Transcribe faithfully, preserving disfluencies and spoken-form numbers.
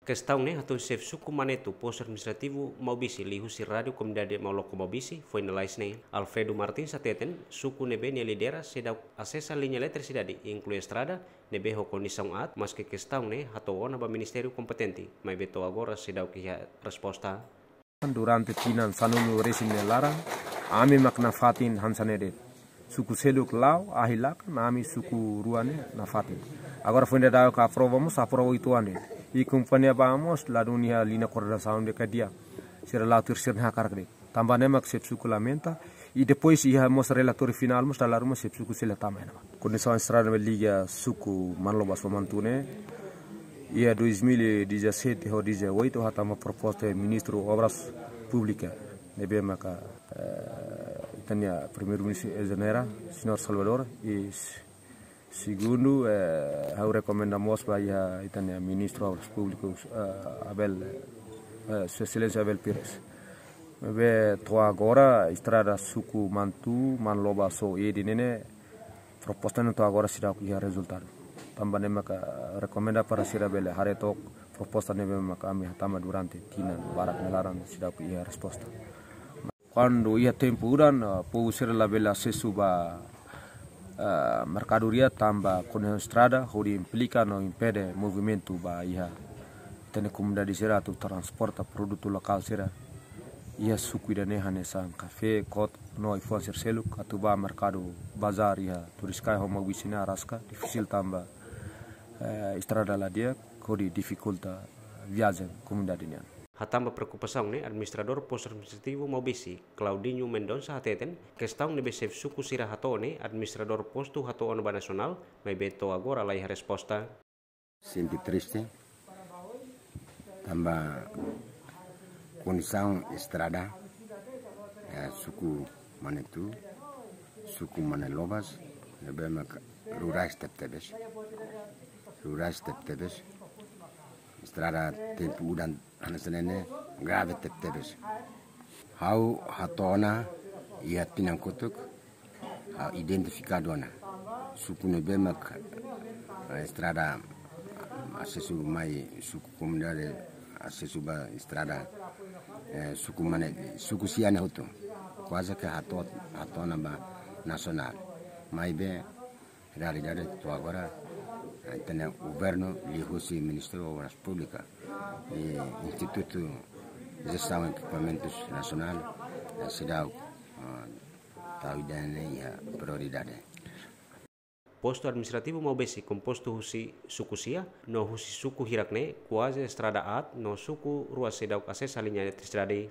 Kestaun ne'e hatun xefe suku Manetu, postu administrativu Maubisse, liuhusi Rádiu Komunidade Mauloko Maubisse, foin lalais ne'e, Alfredo Martins hateten, suku ne'ebé nia lidera seidauk asesa liña eletrisidade, inklui estrada, ne'ebé ho kondisaun aat, maske kestaun ne'e hato'o ona ba ministériu kompetente, maibé to'o agora seidauk iha resposta. Durante tinan sanulu-resin nia laran, ami mak nafatin hanesan ne'e de'it. Suku seluk la'o, ahi lakan, ami suku rua ne'e nafatin. Agora foin daudaun aprova mós, aprova uitoan de'it. I kompañia ba mós, ladún iha liña koordenasaun de'it ka di'ak. Sira la'o tuir sira-nia hakarak de'it. Tanba ne'e mak xefe suku lamenta, i depois iha mós relatóriu finál mós dala ruma xefe suku sei la tama iha ne'ebá. Kondisaun estrada ne'ebé liga suku Manlobas ho Mantu ne'e, iha dois mil e dezassete ho dezoito hatama proposta ministru Obras Públikas, ne'ebé maka, eh, ita-nia Primeiru-Ministru ezonera, señór Salvador, i s-, segundu, eh, ha'u rekomenda mós ba iha ita-nia Ministru Obras Públikas, eh, Abel, eh, Sua Exelénsia Abel Pires. Maibé to'o agora estrada suku Mantu, Manlobas ho Edi ne'e ne'e, proposta ne'e to'o agora seidauk iha rezultadu. Tanba ne'e maka rekomenda para sira bele haree took proposta ne'ebé maka ami hatama durante tinan barak nia laran seidauk iha resposta. Kuandu iha tempu udan, eh, povu sira labele asesu ba, eh, merkadoria tanba kondisaun estrada hodi implika no impede movimentu ba iha ita-nia komunidade sira atu transporta produtu lokál sira iha suku ida-ne'e hanesan kafé, kotuk no ai-fuan sira seluk atu ba merkadu bazár iha Turiscai ho Maubisse ne'e araska difisil tanba, eh, estrada la di'ak hodi difikulta viajen komunidade nian. Hatán ba preokupasaun ne'e, administradór postu administrativu Maubisse, Claudinho Mendonça hateten, kestaun ne'ebé xefe suku sira hato'o ne'e administradór postu hato'o ona ba nasionál, maibé to'o agora la iha resposta. Sente triste, tanba kondisaun estrada, eh, suku Manetu, suku Manlobas, ne'ebé maka rurais tebetebes. Rurais tebetebes. Estrada tempu udan hanesan ne'e ne'e grave tebetebes. Ha'u hato'o ona iha tinan kotuk, ha'u identifikadu ona. Suku ne'ebé mak, eh, estrada asesu mai suku komunidade asesu ba estrada, eh, suku Mane, suku Sia ne'e hotu. Kuaze ke hato'o, hato'o ona ba nasionál. Maibé realidade to'o agora, eh, ita-nia governu liuhusi Ministériu Obras Públikas i Institutu Jestaun Ekipamentus Nasionál, eh, seidauk, eh, tau ida-ne'e iha prioridade. Postu administrativu Maubesse kompostu husi suku Sia, no husi suku hirak ne'e kuaze estrada aat, no suku rua seidauk asesa liña eletrisidade.